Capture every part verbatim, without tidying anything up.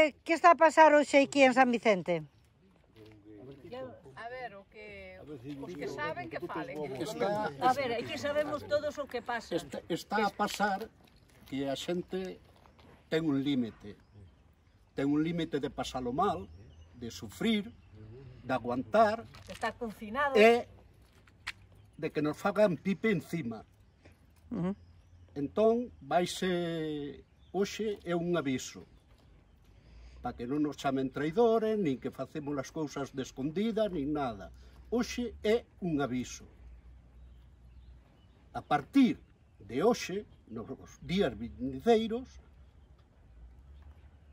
que, que está a pasar hoxe aquí en San Vicente? A ver, o que, os que saben que falen. Está, A ver, aquí sabemos todos o que pasa. está, está a pasar que a xente ten un límite. Ten un límite de pasalo mal, de sufrir, de aguantar, Está confinado. e de que nos fagan pipe encima. Uh -huh. Entón, vaise hoxe é un aviso para que non nos chamen traidores, nin que facemos as cousas de escondidas, nin nada. Hoxe é un aviso. A partir de hoxe, nos días vindeiros,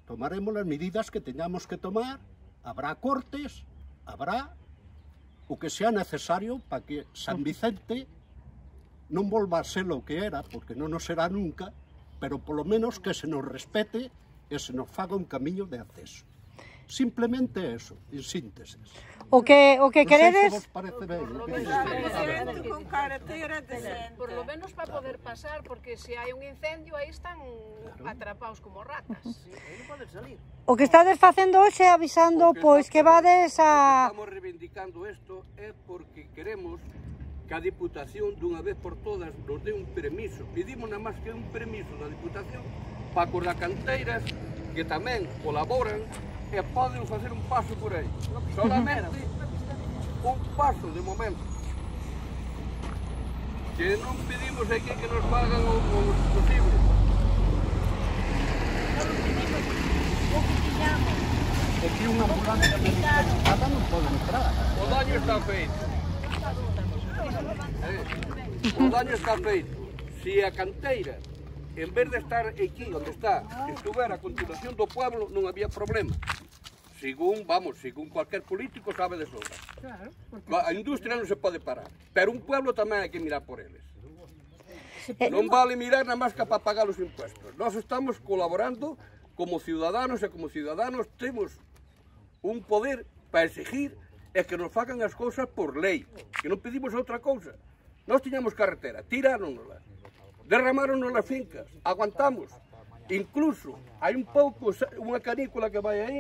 tomaremos as medidas que teñamos que tomar, habrá cortes, habrá o que sea necesario para que San Vicente non volva a ser o que era, porque non nos será nunca, pero polo menos que se nos respete e se nos faga un camiño de acceso. Simplemente eso, en síntesis. O que, o que Non sei se queredes... vos parece ben. Con carretera decente. Por lo menos para poder pasar, porque se hai un incendio aí están atrapados como ratas. O que estades facendo hoxe é avisando, pois, que vades a... Estamos reivindicando isto é porque queremos que a Diputación dunha vez por todas nos dé un permiso. Pedimos nada máis que un permiso da Diputación para cos da canteiras que tamén colaboran e poden facer un paso por aí. Solamente un paso de momento. Que non pedimos aquí que nos pagan o, o posible. É que unha ambulancia medicarizada non pode entrar. O daño está feito. Eh, o daño está feito. Se a canteira, en vez de estar aquí onde está, estuvera a continuación do pueblo, non había problema. Según, vamos, según cualquier político sabe de sobra. A industria non se pode parar, pero un pueblo tamén hai que mirar por eles. Non vale mirar nada máis que para pagar os impuestos. Nós estamos colaborando como ciudadanos e como ciudadanos temos un poder para exigir e que nos fagan as cousas por lei, que non pedimos outra cousa. Nós tiñamos carretera, tiráronosla, derramáronos as fincas, aguantamos. Incluso hai un pouco, unha canícula que vai aí,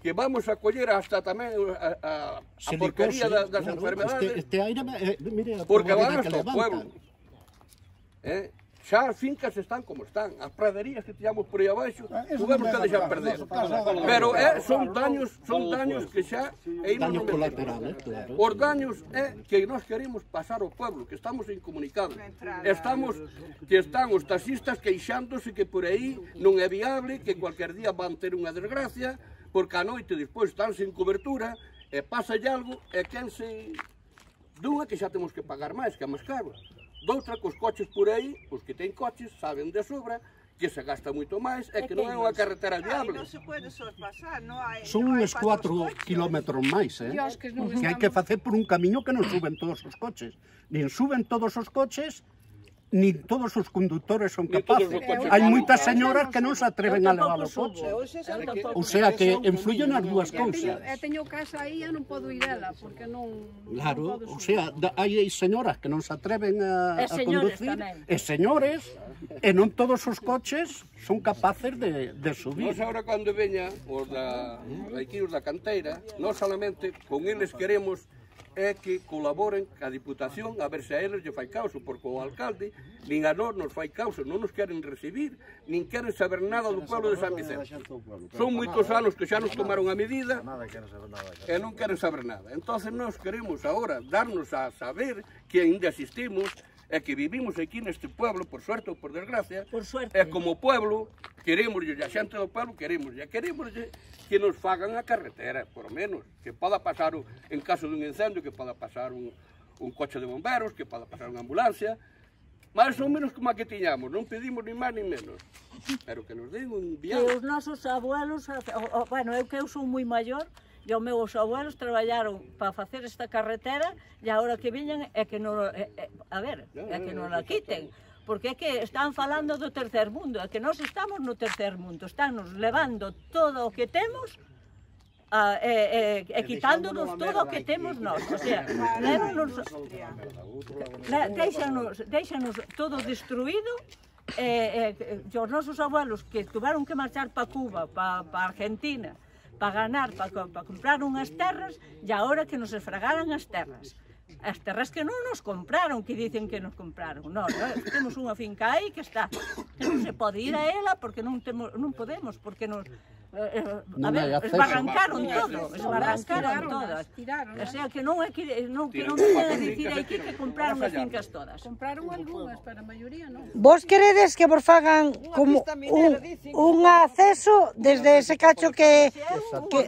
que vamos a coller hasta tamén a, a, a porquería das, das claro, enfermedades, este, este aire, eh, mire, a porque van que hasta o pueblo. Eh? Xa as fincas están como están, as praderías que tivemos por aí abaixo, tuvemos que deixar perder. Pero eh, son daños, son daños que xa e daños non colaterales, claro. os daños é que nós queremos pasar ao pueblo, que estamos incomunicados. Estamos, que están os taxistas queixándose que por aí non é viable, que cualquier día van ter unha desgracia, porque a noite despois están sin cobertura, e pasa algo, e quen se... Dunha que xa temos que pagar máis, que é máis caro. Doutra, cos coches por aí, os que ten coches, saben de sobra, que se gasta moito máis e que non é unha carretera viable. Non se pode sospasar, non hai... Son uns cuatro kilómetros máis, eh? Que hai que facer por un camiño que non suben todos os coches. Nin suben todos os coches, nin todos os conductores son capaces. Hai moitas señoras que non se atreven a levar o coche. O sea que influyen as dúas cousas. Eu teño casa aí e non podo ir dela, porque non... Claro, o sea, hai señoras que non se atreven a, a conducir, e señores, e non todos os coches son capaces de, de subir. Nós agora cando veña os da, aquí os da canteira, nós solamente con eles queremos é que colaboren ca Diputación a ver se a eles lle fai causa, porque o alcalde nin a nós nos fai causa, non nos queren recibir, nin queren saber nada do pueblo de San Vicente. Son moitos anos que xa nos tomaron a medida e non queren saber nada. Entonces nós queremos agora darnos a saber que ainda existimos e que vivimos aquí neste pueblo, por suerte ou por desgracia, Por suerte. e como pueblo queremos, e a xente do pueblo queremos, e queremos que nos fagan a carretera, por menos, que poda pasar un, en caso dun incendio, que poda pasar un, un coche de bomberos, que poda pasar unha ambulancia, máis ou menos como a que tiñamos, non pedimos ni máis ni menos, pero que nos den un Que viaje. os nosos abuelos, o, o, bueno, eu que eu son moi maior, e os meus abuelos traballaron para facer esta carretera e agora que viñan é que non, é, é, a ver, é que non la quiten. Porque é que están falando do tercer mundo, é que nós estamos no tercer mundo, están nos levando todo o que temos a, e, e, e quitándonos todo o que temos nós. O sea, lévanos, deixanos, deixanos todo destruído eh, eh, os nosos abuelos que tuveron que marchar para Cuba, para pa Argentina, para ganar, para pa comprar unhas terras, e agora que nos esfragaran as terras. As terras que non nos compraron, que dicen que nos compraron. Non, non, temos unha finca aí que está, que non se pode ir a ela porque non, temos, non podemos, porque nos... Eh, a ver, esbarrancaron todo, esbarrancaron todas. O sea, que non é que non, que non quere dicir aquí que compraron as fincas todas. Compraron algunhas, pero a maioría non. Vos queredes que vos fagan como un, un acceso desde ese cacho que... Que,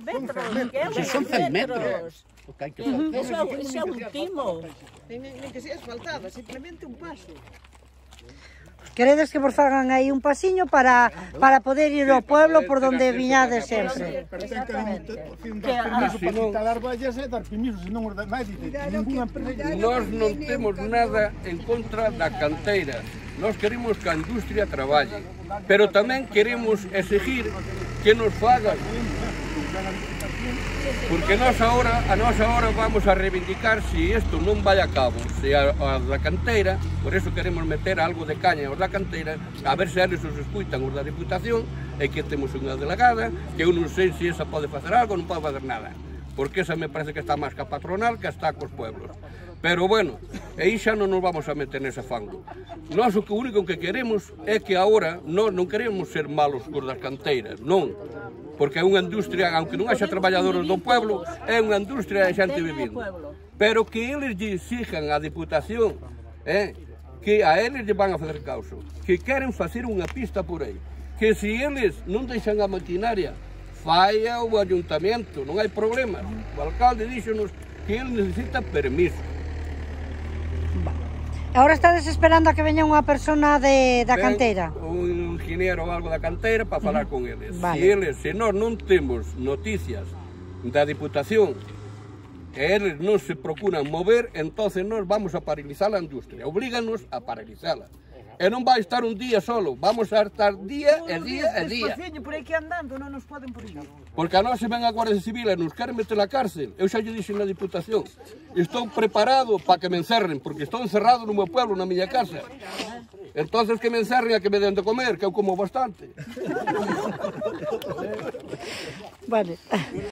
que son cen metros. Eso é un timo. Nen que sea asfaltada, simplemente un paso. Queredes que vos fagan aí un pasiño para, para poder ir ao pueblo por donde viñades sempre. Pero ten que dar permiso para instalar vallas e dar permiso, senón os demais dicen, ninguna empresa... Nós non temos nada en contra da canteira. Nós queremos que a industria traballe, pero tamén queremos exigir que nos fagan. Porque nós agora, a nós agora vamos a reivindicar se isto non vai a cabo, se a, a da canteira, por eso queremos meter algo de caña aos da canteira, a ver se eles os escuitan os da Diputación, e que temos unha delegada, que eu non sei se esa pode facer algo ou non pode facer nada, porque esa me parece que está máis que a patronal que está cos pueblos. Pero bueno, aí xa non nos vamos a meter nese fango. Nós o que único que queremos é que agora nós non queremos ser malos cos das canteiras, non. Porque é unha industria, aunque non haxa traballadores do pueblo, é unha industria de xente vivindo. Pero que eles lle exijan á Diputación, eh, que a eles lle van a fazer causo, que queren facer unha pista por aí, que se eles non deixan a maquinaria, falla o ayuntamento, non hai problema. O alcalde díxonos que ele necesita permiso. Agora estades esperando a que veña unha persona de, da canteira? Un ingeniero ou algo da canteira para falar con eles. Vale. Se eles, se nós non temos noticias da Diputación e eles non se procuran mover, entonces nós vamos a paralizar a industria. Oblíganos a paralizala. E non vai estar un día solo, vamos a estar día e día e día. Por aí que andando non nos poden por aí. Porque a nós se ven a Guardia Civil e nos queren meter a cárcel. Eu xa lle dixen na Diputación. Estou preparado para que me encerren, porque estou encerrado no meu pueblo, na miña casa. Entonces que me encerren a que me den de comer, que eu como bastante. Vale.